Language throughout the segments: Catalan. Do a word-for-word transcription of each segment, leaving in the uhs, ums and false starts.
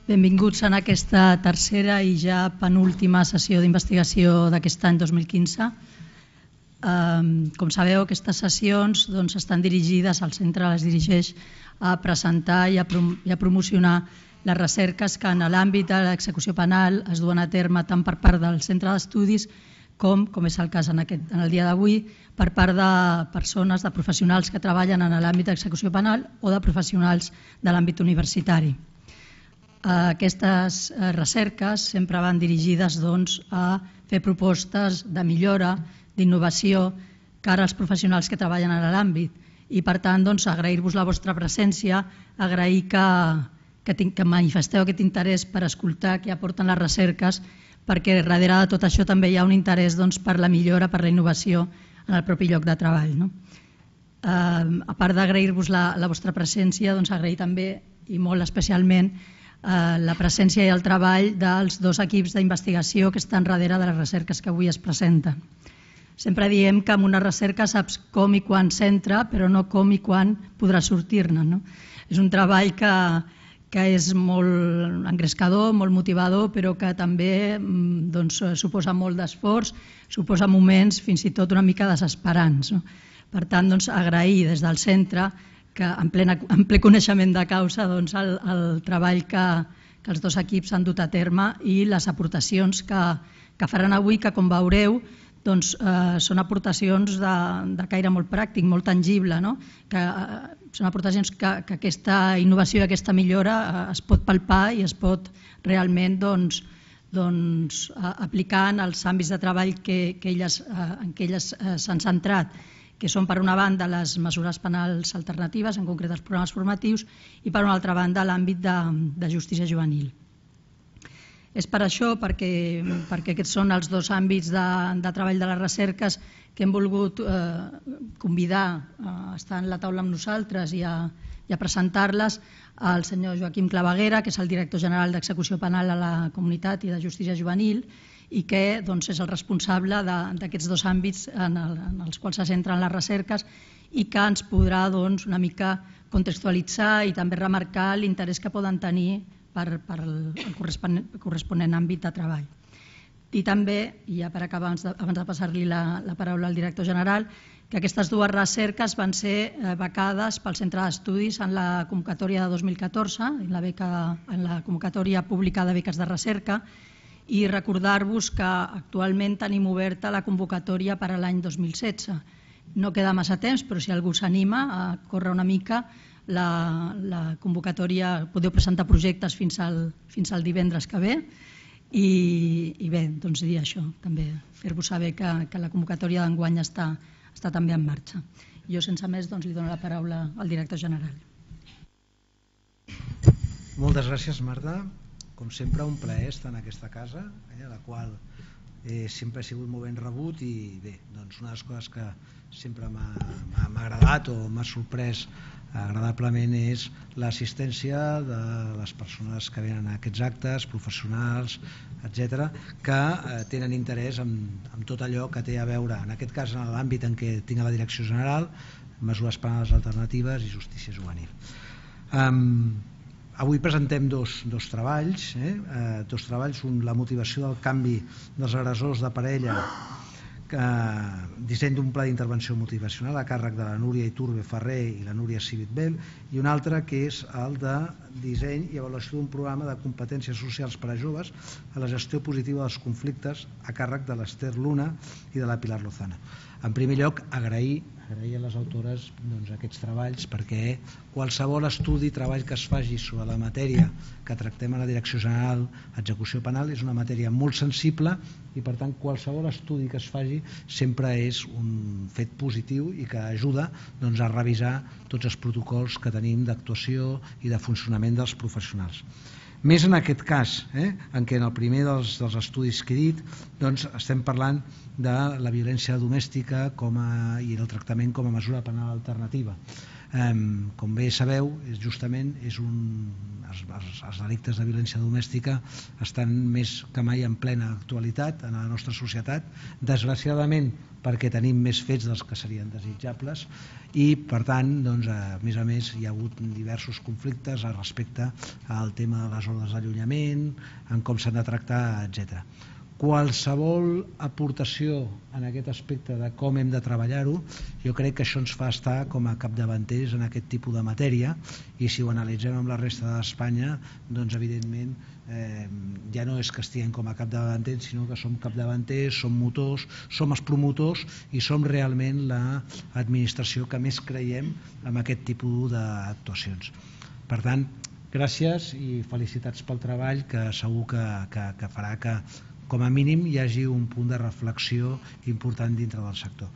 Benvinguts en aquesta tercera i ja penúltima sessió d'investigació d'aquest any dos mil quinze. Com sabeu, aquestes sessions estan dirigides, el centre les dirigeix a presentar i a promocionar les recerques que en l'àmbit de l'execució penal es duen a terme tant per part del centre d'estudis com, com és el cas en el dia d'avui, per part de persones, de professionals que treballen en l'àmbit d'execució penal o de professionals de l'àmbit universitari. Aquestes recerques sempre van dirigides a fer propostes de millora, d'innovació, cara als professionals que treballen en l'àmbit. I per tant, agrair-vos la vostra presència, agrair que manifesteu aquest interès per escoltar què aporten les recerques, perquè darrere de tot això també hi ha un interès per la millora, per la innovació en el propi lloc de treball. A part d'agrair-vos la vostra presència, agrair també, i molt especialment, la presència i el treball dels dos equips d'investigació que estan darrere de les recerques que avui es presenten. Sempre diem que amb una recerca saps com i quan s'entra, però no com i quan podrà sortir-ne. És un treball que és molt engrescador, molt motivador, però que també suposa molt d'esforç, suposa moments fins i tot una mica desesperants. Per tant, agrair des del centre que en ple coneixement de causa el treball que els dos equips han dut a terme i les aportacions que faran avui, que com veureu són aportacions de caire molt pràctic, molt tangible, que són aportacions que aquesta innovació i aquesta millora es pot palpar i es pot realment aplicar en els àmbits de treball en què elles s'han centrat, que són per una banda les mesures penals alternatives, en concret els programes formatius, i per una altra banda l'àmbit de justícia juvenil. És per això, perquè aquests són els dos àmbits de treball de les recerques, que hem volgut convidar a estar en la taula amb nosaltres i a presentar-les al senyor Joaquim Claveguera, que és el director general d'Execució Penal a la Comunitat i de Justícia Juvenil, i que és el responsable d'aquests dos àmbits en els quals se centren les recerques i que ens podrà una mica contextualitzar i també remarcar l'interès que poden tenir per al corresponent àmbit de treball. I també, i ja per acabar, abans de passar-li la paraula al director general, que aquestes dues recerques van ser becades pel Centre d'Estudis en la convocatòria de dos mil catorze, en la convocatòria pública de beques de recerca, i recordar-vos que actualment tenim oberta la convocatòria per a l'any dos mil setze. No queda massa temps, però si algú s'anima a córrer una mica, la convocatòria, podeu presentar projectes fins al divendres que ve, i bé, doncs dir això, també fer-vos saber que la convocatòria d'enguany està també en marxa. Jo, sense més, li dono la paraula al director general. Moltes gràcies, Marta. Com sempre, un plaer estar en aquesta casa, a la qual sempre he sigut molt ben rebut, i bé, una de les coses que sempre m'ha agradat o m'ha sorprès agradablement és l'assistència de les persones que venen a aquests actes, professionals, etcètera, que tenen interès en tot allò que té a veure, en aquest cas en l'àmbit en què tinc a la direcció general, mesures penals alternatives i justícia juvenil. Avui presentem dos treballs, dos treballs, un la motivació del canvi dels agressors de parella, disseny d'un pla d'intervenció motivacional a càrrec de la Núria Iturbe Ferrer i la Núria Civit-Bell, i un altre que és el de disseny i avaluació d'un programa de competències socials per a joves a la gestió positiva dels conflictes a càrrec de l'Ester Luna i de la Pilar Lozano. En primer lloc, agrair agrair a les autores aquests treballs, perquè qualsevol estudi i treball que es faci sobre la matèria que tractem a la Direcció General d'Execució Penal és una matèria molt sensible, i per tant qualsevol estudi que es faci sempre és un fet positiu i que ajuda a revisar tots els protocols que tenim d'actuació i de funcionament dels professionals. Més en aquest cas, en què en el primer dels estudis que he dit estem parlant de la violència domèstica i el tractament com a mesura penal alternativa. Com bé sabeu, justament és un, els, els, els delictes de violència domèstica estan més que mai en plena actualitat en la nostra societat, desgraciadament perquè tenim més fets dels que serien desitjables i per tant, doncs, a més a més hi ha hagut diversos conflictes respecte al tema de les ordres d'allunyament, en com s'han de tractar, etcètera. Qualsevol aportació en aquest aspecte de com hem de treballar-ho, jo crec que això ens fa estar com a capdavanters en aquest tipus de matèria, i si ho analitzem amb la resta d'Espanya, doncs evidentment eh, ja no és que estiguem com a capdavanters, sinó que som capdavanters, som motors, som els promotors i som realment l'administració que més creiem en aquest tipus d'actuacions. Per tant, gràcies i felicitats pel treball, que segur que, que, que farà que com a mínim hi hagi un punt de reflexió important dintre del sector.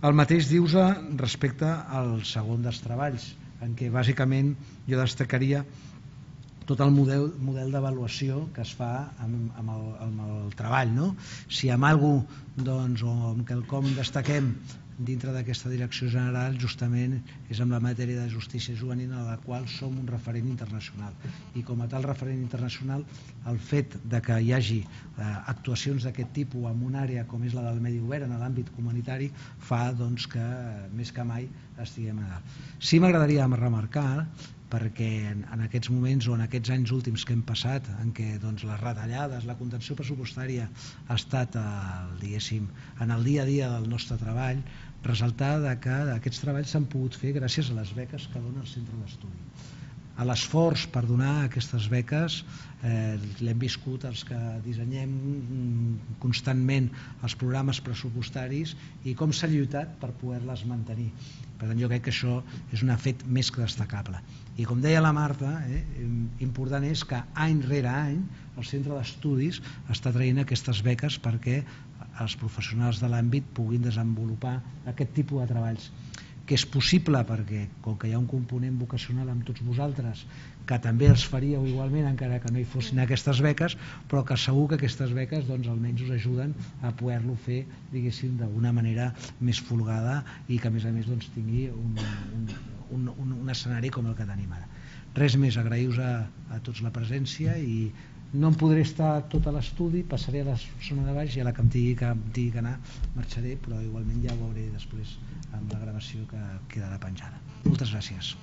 El mateix dius respecte al segon dels treballs, en què bàsicament jo destacaria tot el model, model d'avaluació que es fa amb, amb, el, amb el treball, no? Si amb alguna cosa, doncs, o amb quelcom destaquem dintre d'aquesta direcció general, justament és amb la matèria de justícia juvenil, a la qual som un referent internacional, i com a tal referent internacional el fet de que hi hagi eh, actuacions d'aquest tipus en una àrea com és la del medi obert, en l'àmbit comunitari, fa doncs, que més que mai estiguem a dalt. Sí m'agradaria remarcar, perquè en, en aquests moments o en aquests anys últims que hem passat, en què doncs, les retallades, la contenció pressupostària ha estat el, diguéssim, en el dia a dia del nostre treball, resultar de que aquests treballs s'han pogut fer gràcies a les beques que dona el centre d'estudi. A l'esforç per donar aquestes beques eh, l'hem viscut els que dissenyem constantment els programes pressupostaris i com s'ha lluitat per poder-les mantenir. Per tant, jo crec que això és un fet més que destacable. I com deia la Marta, eh, important és que any rere any el centre d'estudis està traient aquestes beques perquè els professionals de l'àmbit puguin desenvolupar aquest tipus de treballs, que és possible perquè, com que hi ha un component vocacional amb tots vosaltres, que també els faríeu igualment encara que no hi fossin aquestes beques, però que segur que aquestes beques doncs, almenys us ajuden a poder-lo fer, diguéssim, d'una manera més folgada i que a més a més doncs, tingui un, un, un, un, un escenari com el que tenim ara. Res més, agraïu-vos a, a tots la presència i no em podré estar tot a l'estudi, passaré a la zona de baix i a la que em digui que, em digui que anar marxaré, però igualment ja ho veuré després amb la gravació que quedarà penjada. Moltes gràcies.